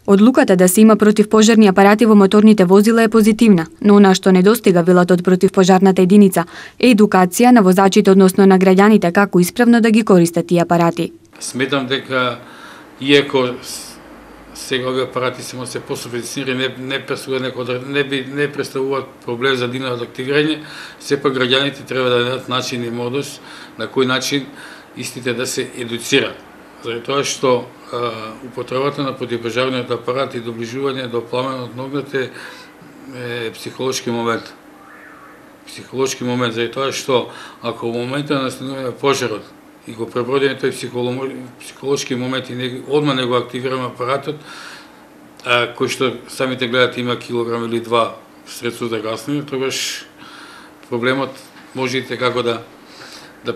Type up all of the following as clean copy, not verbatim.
Одлуката да се има противпожарни апарати во моторните возила е позитивна, но она што недостига, велат од противпожарната единица, е едукација на возачите, односно на граѓаните како исправно да ги користат тие апарати. Сметам дека иако сега овие апарати се пософистицирани, не представуваат проблем за нивното активирање, сепак граѓаните треба да најдат начин и модус на кој начин истите да се едуцираат. Заради тоа што употребата на противпожарниот апарат и доближување до пламенот на огнот е психолошки момент. Психолошки момент, заради тоа што ако во моментот на настанување пожарот и го пребродиме тој психолошки момент и одма не го активираме апаратот, кој што самите гледате има килограм или два средство за гаснење, тогаш проблемот може и како да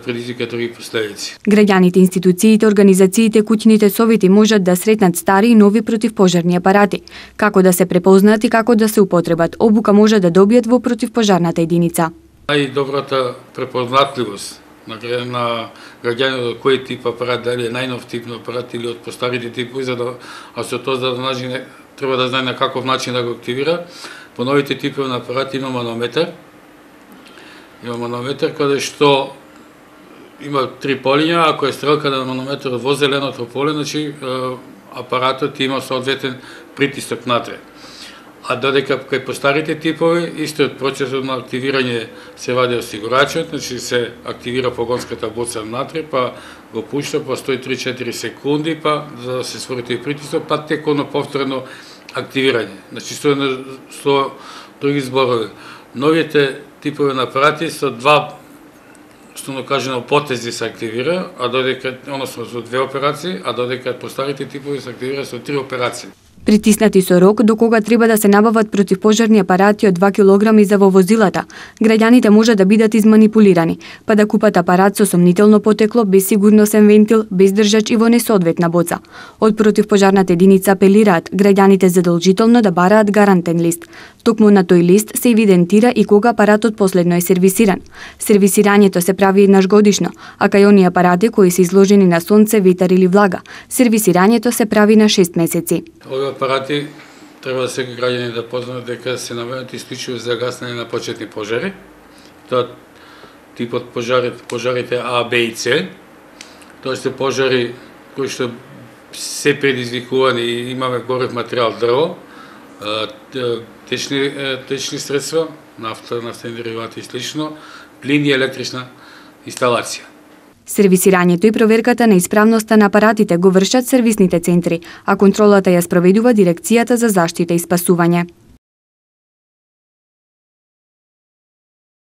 предизвика други последици. Граѓаните, институциите, организациите, куќните совети можат да сретнат стари и нови противпожарни апарати, како да се препознаат и како да се употребат. Обука може да добијат во противпожарната единица. Најдобрата препознатливост на граѓаните кој тип апарат, дали е најнов тип на апарат или од постарите типови, а со тоа треба да знае на каков начин да го активира. По новите типови на апарати има манометар. Има манометар каде што има три полиња, ако е стрелка на манометарот во зеленото поле, значи апаратот има соодветен притисок натре. А додека кај постарите типови, истиот процесот на активирање се вади осигурачот, значи се активира погонската боца натре, па го пушта, па стои 3-4 секунди, па за да се створи тој притисок, па теконо повторно активирање. Значи со други зборови, новите типови на апарати со два, што кажено, потези се активира, а додека, односно со две операции, а додека постарите типови се активира со 3 операции. Притиснати со рок до кога треба да се набават противпожарни апарати од 2 килограми за во возилата, граѓаните може да бидат изманипулирани, па да купат апарат со сомнително потекло, без сигурносен вентил, без држач и во несоодветна боца. Од противпожарната единица апелираат граѓаните задолжително да бараат гарантен лист. Токму на тој лист се евидентира и кога апаратот последно е сервисиран. Сервисирањето се прави еднаш годишно, а кај оние апарати кои се изложени на сонце, ветар или влага, сервисирањето се прави на 6 месеци. Овие апарати треба да се граѓани да познаат дека се наменат исклучиво за гаснење на почетни пожари. Тоа типот пожарите А, Б и С. Тоа се пожари кои што се предизвикувани и имаме горев материјал дрво, течни средства, нафтени деривати и слично, плин и електрична инсталација. Сервисирањето и проверката на исправноста на апаратите го вршат сервисните центри, а контролата ја спроведува Дирекцијата за заштита и спасување.